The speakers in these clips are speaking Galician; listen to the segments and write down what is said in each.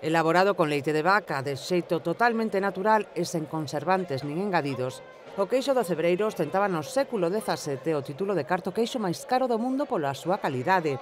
Elaborado con leite de vaca de xeito totalmente natural e sen conservantes nin engadidos, o queixo do Cebreiro ostentaba no século XVII o título de carto queixo máis caro do mundo pola súa calidade.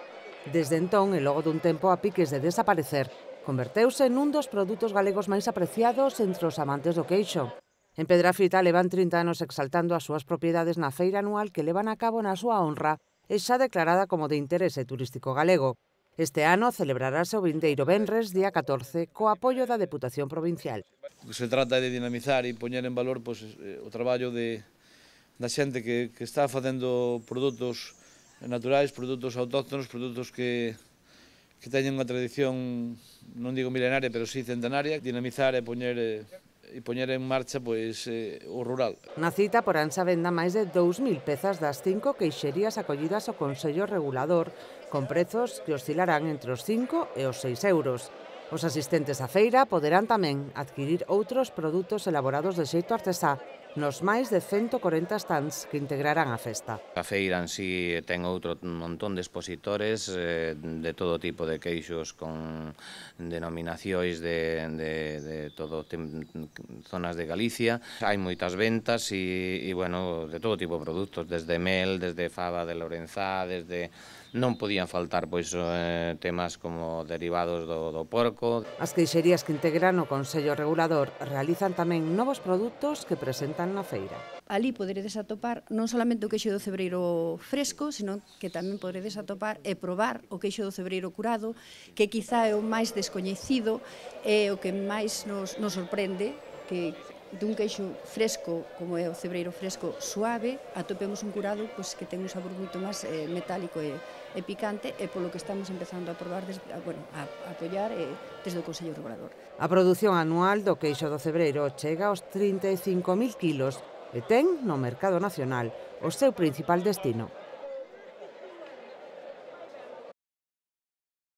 Desde entón, e logo dun tempo a piques de desaparecer, converteuse nun dos produtos galegos máis apreciados entre os amantes do queixo. En Pedrafita levan 30 anos exaltando as súas propiedades na feira anual que levan a cabo na súa honra e xa declarada como de interese turístico galego. Este ano celebrarase o vindeiro venres, día 14, co apoio da Deputación Provincial. O que se trata é de dinamizar e poñer en valor o traballo da xente que está facendo produtos naturais, produtos autóctonos, produtos que teñen unha tradición, non digo milenaria, pero sí centenaria. Dinamizar e poñer en marcha o rural. Na cita poránse a venda máis de 2.000 pezas das 5 queixerías acollidas ao Consello Regulador, con prezos que oscilarán entre os 5 e os 6 euros. Os asistentes á feira poderán tamén adquirir outros produtos elaborados de xeito artesá nos máis de 140 stands que integrarán a festa. A feira en sí ten outro montón de expositores de todo tipo de queixos con denominacións de todo zonas de Galicia. Hai moitas ventas e bueno, de todo tipo de produtos, desde mel, desde fava de Lorenzá, desde... Non podían faltar temas como derivados do porco. As queixerías que integran o Consello Regulador realizan tamén novos produtos que presentan na feira. Ali poderedes atopar non solamente o queixo do Cebreiro fresco, sino que tamén poderedes atopar e probar o queixo do Cebreiro curado, que quizá é o máis descoñecido e o que máis nos sorprende, que dun queixo fresco, como é o Cebreiro fresco suave, atopemos un curado que ten un sabor moito máis metálico e picante, e polo que estamos empezando a probar, a apoiar desde o Consello Regulador. A produción anual do queixo do Cebreiro chega aos 35.000 kilos e ten no mercado nacional o seu principal destino.